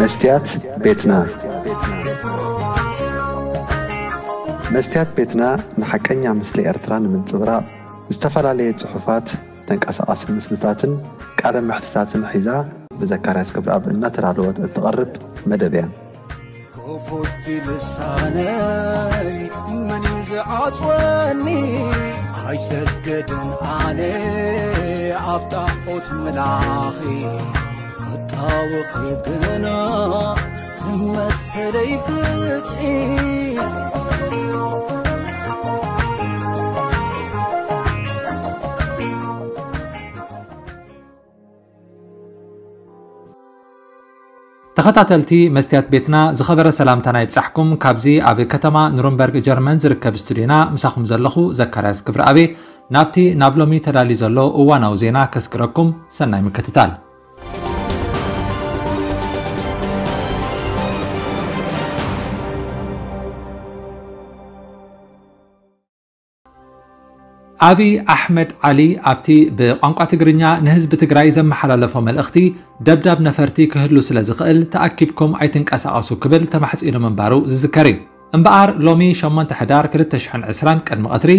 መስትያት ቤትና። መስትያት ቤትና ንሓቀኛ ምስሊ ኤርትራ ንምንጽብራቕ ዝተፈላለየ ጽሑፋት፣ ተንቀሳቓሲ ምስልታትን ቃለ መሕትታትን ሒዛ ብዘካርያስ ክብረኣብ እናተዳለወት እትቐርብ መደብ እያ። ክፉት ልሳነይ መን እዩ ዝዓጽወኒ? ኣይሰግድን ኣነ ኣብ ጣዖት ምላኺ፣ ክጣወኺ ግና ንመሰለይ ፍትሒ። ተኸታተልቲ መስትያት ቤትና፣ ዝኸበረ ሰላምታና ይብጻሕኩም። ካብዚ ኣብ ከተማ ኑርንበርግ ጀርመን ዝርከብ ስቱድዮና ምሳኹም ዘለኹ ዘካርያስ ክብረኣቤ፣ ናብቲ ናብ ሎሚ ተዳልዩ ዘሎ እዋናዊ ዜና ከስግረኩም። ሰናይ ምክትታል። ኣብይ ኣሕመድ ዓሊ ኣብቲ ብቋንቋ ትግርኛ ንህዝቢ ትግራይ ዘመሓላለፎ መልእኽቲ፣ ደብዳብ ነፈርቲ ክህሉ ስለ ዝኽእል ተኣኪብኩም ኣይትንቀሳቐሱ ክብል ተማሕጺኑ ምንባሩ ዝዝከር እዩ። እምበኣር ሎሚ ሸሞንተ ሕዳር ክልተ ሽሕን ዕስራን ቅድሚ ቀትሪ፣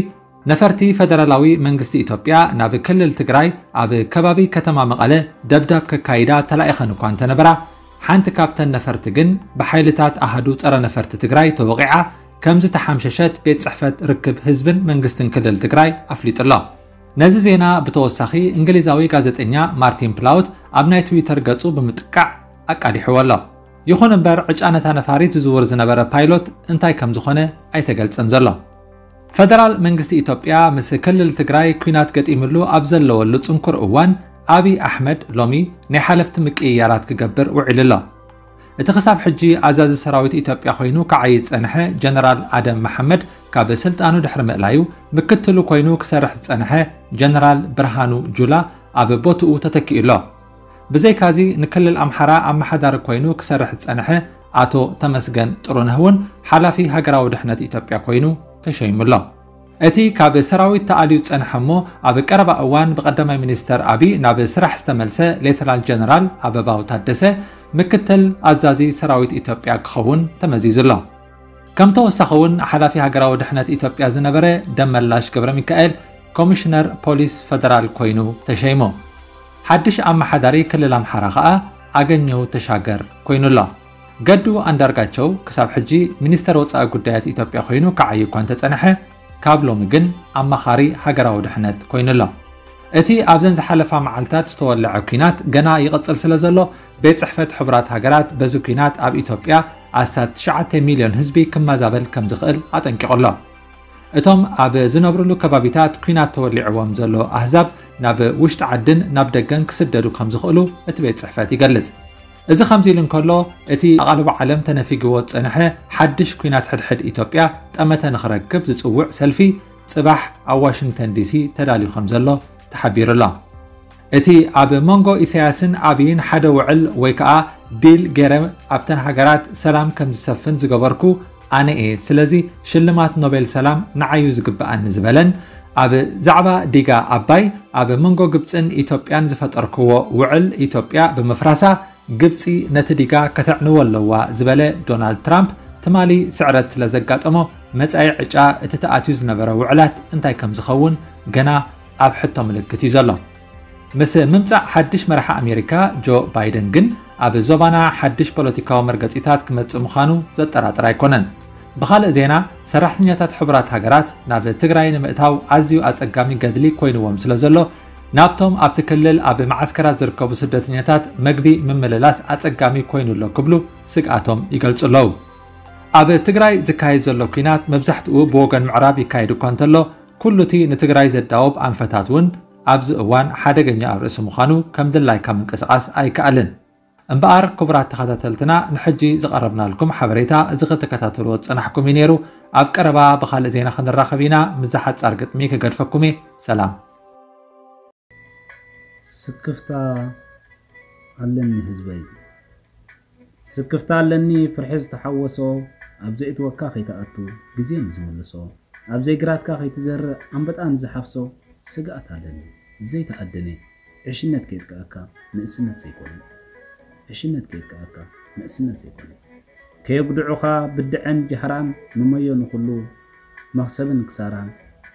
ነፈርቲ ፈደራላዊ መንግስቲ ኢትዮጵያ ናብ ክልል ትግራይ ኣብ ከባቢ ከተማ መቐለ ደብዳብ ከካይዳ ተላኢኸን እኳ እንተነበራ፣ ሓንቲ ካብተን ነፈርቲ ግን ብሓይልታት ኣሃዱ ጸረ ነፈርቲ ትግራይ ተወቒዓ ከም ዝተሓምሸሸት ቤት ጽሕፈት ርክብ ህዝብን መንግስትን ክልል ትግራይ ኣፍሊጡ ኣሎ። ነዚ ዜና ብተወሳኺ እንግሊዛዊ ጋዜጠኛ ማርቲን ፕላውት ኣብ ናይ ትዊተር ገጹ ብምጥቃዕ ኣቃሊሕዎ ኣሎ። ይኹን እምበር ዕጫ ነታ ነፋሪት ዝዝውር ዝነበረ ፓይሎት እንታይ ከም ዝኾነ ኣይተገልጸን ዘሎ። ፈደራል መንግስቲ ኢትዮጵያ ምስ ክልል ትግራይ ኲናት ገጢምሉ ኣብ ዘለወሉ ጽንኩር እዋን፣ ኣብይ ኣሕመድ ሎሚ ናይ ሓለፍቲ ምቅይያራት ክገብር ውዒሉ ኣሎ። እቲ ክሳብ ሕጂ ኣዛዚ ሰራዊት ኢትዮጵያ ኮይኑ ክዓዪ ዝጸንሐ ጀነራል ኣደም መሓመድ ካብ ስልጣኑ ድሕሪ ምእላዩ፣ ምክትሉ ኮይኑ ክሰርሕ ዝጸንሐ ጀነራል ብርሃኑ ጁላ ኣብ ቦትኡ ተተኪኡ ኣሎ። ብዘይካዚ፣ ንክልል ኣምሓራ ኣመሓዳሪ ኮይኑ ክሰርሕ ዝጸንሐ ኣቶ ተመስገን ጥሩነህ እውን ሓላፊ ሃገራዊ ድሕነት ኢትዮጵያ ኮይኑ ተሸይሙ ኣሎ። እቲ ካብ ሰራዊት ተኣልዩ ዝጸንሐ እሞ ኣብ ቀረባ እዋን ብቀዳማይ ሚኒስተር ኣብይ ናብ ስራሕ ዝተመልሰ ሌተናል ጀነራል ኣበባው ታደሰ ምክትል ኣዛዚ ሰራዊት ኢትዮጵያ ክኸውን ተመዚዙ ኣሎ። ከም ተወሳኺ እውን ሓላፊ ሃገራዊ ድሕነት ኢትዮጵያ ዝነበረ ደመላሽ ገብረ ሚካኤል ኮሚሽነር ፖሊስ ፈደራል ኮይኑ ተሸይሙ። ሓድሽ ኣመሓዳሪ ክልል ኣምሓራ ከኣ ኣገኘው ተሻገር ኮይኑ ኣሎ። ገዱ ኣንዳርጋቸው ክሳብ ሕጂ ሚኒስተር ወጻኢ ጉዳያት ኢትዮጵያ ኮይኑ ክዓዪ እኳ እንተጸንሐ፣ ካብ ሎሚ ግን ኣማኻሪ ሃገራዊ ድሕነት ኮይኑ ኣሎ። እቲ ኣብዘን ዝሓለፋ መዓልታት ዝተወለዐ ኲናት ገና ይቕጽል ስለ ዘሎ፣ ቤት ጽሕፈት ሕቡራት ሃገራት በዚ ኲናት ኣብ ኢትዮጵያ ኣስታት ትሽዓተ ሚልዮን ህዝቢ ክመዛበል ከም ዝኽእል ኣጠንቂቑ ኣሎ። እቶም ኣብ ዝነብሩሉ ከባቢታት ኲናት ተወሊዕዎም ዘሎ ኣህዛብ ናብ ውሽጢ ዓድን ናብ ደገን ክስደዱ ከም ዝኽእሉ እቲ ቤት ጽሕፈት ይገልጽ። እዚ ከምዚ ኢሉ እንከሎ፣ እቲ ኣቓልቦ ዓለም ተነፊግዎ ዝጸንሐ ሓድሽ ኲናት ሕድሕድ ኢትዮጵያ ጠመተ ንኽረክብ ዝጽውዕ ሰልፊ ጽባሕ ኣብ ዋሽንግተን ዲሲ ተዳልዩ ከም ዘሎ ተሓቢሩ ኣሎ። እቲ ኣብ መንጎ ኢሳያስን ኣብይን ሓደ ውዕል ወይ ከኣ ዲል ገይረ ኣብተን ሃገራት ሰላም ከም ዝሰፍን ዝገበርኩ ኣነ እየ፣ ስለዚ ሽልማት ኖቤል ሰላም ንዓዩ ዝግብኣኒ ዝበለን፣ ኣብ ዛዕባ ዲጋ ኣባይ ኣብ መንጎ ግብጽን ኢትዮጵያን ዝፈጠርክዎ ውዕል ኢትዮጵያ ብምፍራሳ ግብጺ ነቲ ዲጋ ከተዕንዎ ኣለዋ ዝበለ ዶናልድ ትራምፕ፣ ትማሊ ስዕረት ስለ ዘጋጠሞ መጻኢ ዕጫ እቲ ተኣትዩ ዝነበረ ውዕላት እንታይ ከም ዝኸውን ገና ኣብ ሕቶ ምልክት እዩ ዘሎ። ምስ ምምጻእ ሓድሽ መራሒ ኣሜሪካ ጆ ባይደን ግን ኣብ ዞባና ሓድሽ ፖለቲካዊ መርገጺታት ክመጽእ ምዃኑ ዘጠራጥር ኣይኮነን። ብኻልእ ዜና፣ ሰራሕተኛታት ሕቡራት ሃገራት ናብ ትግራይ ንምእታው ኣዝዩ ኣጸጋሚ ገድሊ ኮይንዎም ስለ ዘሎ፣ ናብቶም ኣብቲ ክልል ኣብ መዓስከራት ዝርከቡ ስደተኛታት መግቢ ምምልላስ ኣጸጋሚ ኮይኑ ኣሎ ክብሉ ስግኣቶም ይገልጹ ኣለዉ። ኣብ ትግራይ ዝካየድ ዘሎ ኲናት መብዛሕትኡ ብወገን ምዕራብ ይካየድ እኳ እንተሎ፣ ኩሉ እቲ ንትግራይ ዘዳውብ ኣንፈታት እውን ኣብዚ እዋን ሓደገኛ ኣብ ርእሲ ምዃኑ ከም ድላይካ ምንቅስቓስ ኣይከኣልን። እምበኣር ክቡራት ተኸታተልትና፣ ንሕጂ ዝቐረብናልኩም ሓበሬታ እዚ ክትከታተልዎ ዝጸናሕኩም እዩ ነይሩ። ኣብ ቀረባ ብኻልእ ዜና ክንራኸብ ኢና። ምስዛ ሓጻር ግጥሚ ክገድፈኩም እየ። ሰላም። ስክፍታ ኣለኒ ህዝበይ። ስክፍታ ኣለኒ ፍርሒ ዝተሓወሶ፣ ኣብ ዘእትወካ ከይትኣቱ ግዜ ንዝምልሶ፣ ኣብ ዘይግራትካ ከይትዘርእ ኣንበጣ ንዝሓፍሶ ስግኣት ኣለኒ ዘይተኣደነ። ዕሽነት ከየጥቅዐካ ንእስነት ዘይኮነ። ዕሽነት ከየጥቅዐካ ንእስነት ዘይኮነ። ከየጉድዑኻ ብድዐን ጃህራን ንመዮ ንኹሉ መኽሰብን ክሳራን።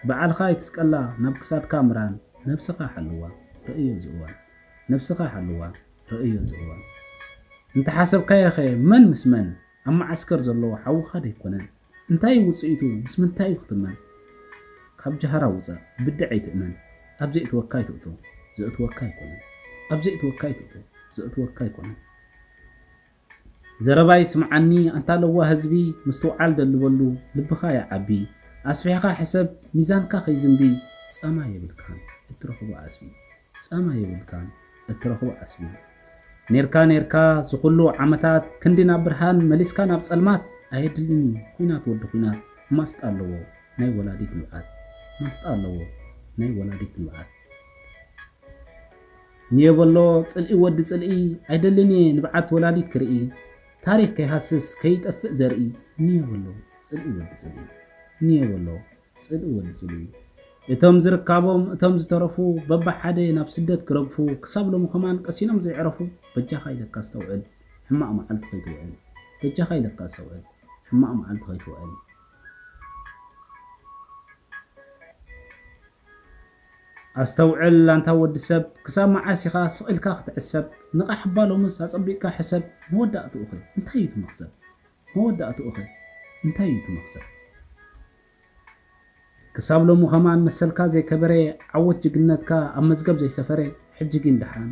በዓልኻ ኣይትስቀላ ናብ ክሳድካ ምራን። ነብስኻ ሓልዋ ርእዮ ዝእዋን። ነብስኻ ሓልዋ ርእዮ ዝእዋን። እንተሓሰብካዮኸ መን ምስ መን ኣብ መዓስከር ዘሎ ሓውኻ ደይኮነን? እንታይ እዩ ውጽኢቱ? ምስ ምንታይ እዩ ክትመን? ካብ ጃህራ ውጻእ፣ ብድዐ ኣይትእመን። ኣብ ዘእትወካ ኣይትእቶ፣ ዘእትወካ ኣይኮነን። ኣብ ዘእትወካ ኣይትእቶ፣ ዘእትወካ ኣይኮነን። ዘረባይ ስምዓኒ ኣንታ ለዋ ህዝቢ፣ ምስትውዓል ደልበሉ ልብኻ ይዓቢ። ኣስፊሕኻ ሕሰብ ሚዛንካ ከይዝንቢ፣ ጻማ የብልካን እትረኽቦ ዓስቢ። ጻማ የብልካን እትረኽቦ ዓስቢ። ኔርካ ኔርካ ዝኹሉ ዓመታት ክንዲ ናብ ብርሃን መሊስካ ናብ ጸልማት ኣየድልን እዩ ኩናት ወዲ ኩናት። ማስጣ ኣለዎ ናይ ወላዲት ንብዓት። ማስጣ ኣለዎ ናይ ወላዲት ንብዓት። ንየበሎ ጽልኢ ወዲ ጽልኢ ኣይደልን እየ ንብዓት ወላዲት ክርኢ። ታሪኽ ከይሃስስ ከይጠፍእ ዘርኢ። ንየበሎ ጽልኢ ወዲ ጽልኢ። ንየበሎ ጽልኢ ወዲ ጽልኢ። እቶም ዝርካቦም እቶም ዝተረፉ በብሓደ ናብ ስደት ክረግፉ ክሳብ ሎሚ ከማን ቀሲኖም ዘይዕረፉ። በጃኻ ኢለካ ኣስተውዕል ሕማቕ መዓልቲ ከይትውዕል። በጃኻ ኢለካ ኣስተውዕል ሕማቕ መዓልቲ ከይትውዕል። ኣስተውዕል ኣንታ ወዲ ሰብ ክሳብ መዓስ ኢኻ ስቕ ኢልካ ክትዕሰብ? ንቓሕ እባ ሎምስ ኣጸቢቕካ ሕሰብ። መወዳእትኡኸ እንታይ እዩ እቲ መኽሰብ? መወዳእትኡኸ እንታይ እዩ እቲ መኽሰብ? ክሳብ ሎሚ ከማን መሰልካ ዘይከበረ ዓወት ጅግነትካ ኣብ መዝገብ ዘይሰፈረ ሕጂ ግን ደሓን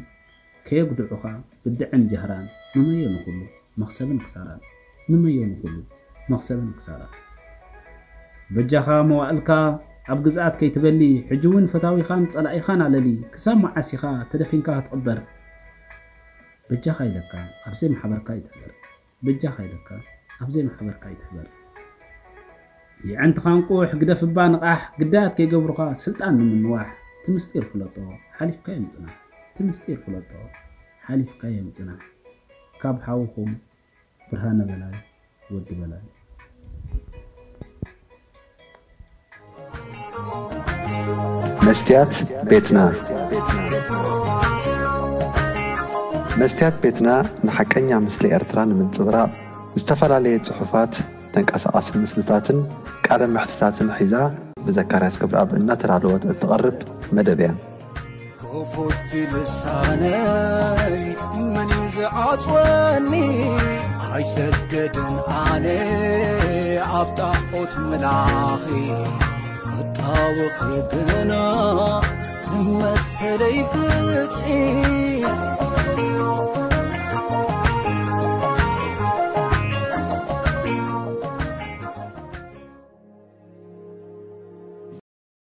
ከየጉድዑኻ ብድዐን ጃህራን ንመዮ ንኹሉ መኽሰብን ክሳራን ንመዮ ንኹሉ መኽሰብን ክሳራን በጃኻ መዋእልካ ኣብ ግዝኣት ከይትበሊ ሕጂ እውን ፈታዊኻን ጸላኢኻን ኣለሊ ክሳብ መዓስ ኢኻ ተደፊንካ ክትቕበር በጃኻ ኢለካ ኣብዘይ ማሕበርካ ይትሕበር በጃኻ ኢለካ ኣብዘይ ማሕበርካ ይትሕበር የዕንትኻ እንቁሕ ግደፍ እባ ንቓሕ ግዳያት ከይገብሩኻ ስልጣን ንምንዋሕ እቲ ምስጢር ፍለጦ ሓሊፍካዮ ምጽናሕ እቲ ምስጢር ፍለጦ ሓሊፍካዮ ምጽናሕ ካብ ሓውኹም ብርሃነ በላይ ወዲ በላይ መስትያት ቤትና መስትያት ቤትና ንሓቀኛ ምስሊ ኤርትራ ንምንጽብራቕ ዝተፈላለየ ጽሑፋት ተንቀሳቓሲ ምስልታትን ቃለ መሕትታትን ሒዛ ብዘካርያስ ክብረኣብ እናተዳለወት እትቐርብ መደብ እያ። ክፉት ልሳነይ መን እዩ ዝዓጽወኒ ኣይሰገድን ኣነ ኣብ ጣዖት ምላኺ ክጣወኺ ግና ንመሰለይ ፍትሒ